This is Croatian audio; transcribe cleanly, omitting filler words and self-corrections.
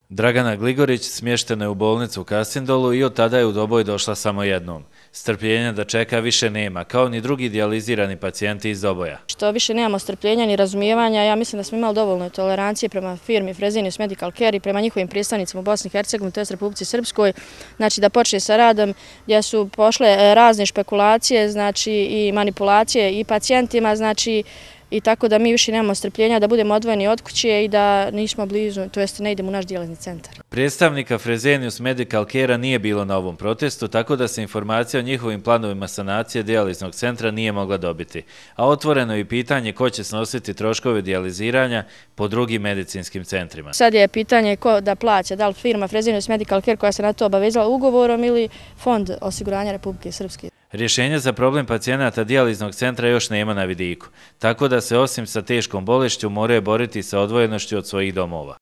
Dragana Gligorić smještena je u bolnicu u Kasindolu i od tada je u Doboj došla samo jednom. Strpljenja da čeka više nema, kao ni drugi dijalizirani pacijenti iz Doboja. Što više nemamo strpljenja ni razumijevanja, ja mislim da smo imali dovoljno tolerancije prema firmi Fresenius Medical Care i prema njihovim predstavnicima u Bosni i Hercegovini, to jest Republici Srpskoj, znači da počne sa radom gdje su pošle razne špekulacije, znači i manipulacije i pacijentima, znači i tako da mi više nemamo strpljenja da budemo odvojeni od kuće i da nismo blizu, to jest ne idemo u naš dijalizni centar. Predstavnika Fresenius Medical Care nije bilo na ovom protestu, tako da se informacija o njihovim planovima sanacije dijaliznog centra nije mogla dobiti. A otvoreno je i pitanje ko će snositi troškove dijaliziranja po drugim medicinskim centrima. Sad je pitanje ko da plaća, da li firma Fresenius Medical Care koja se na to obavezala ugovorom ili Fond osiguranja Republike Srpske. Rješenje za problem pacijenata dijaliznog centra još nema na vidiku, tako da se osim sa teškom bolešću moraju boriti sa odvojenošću od svojih domova.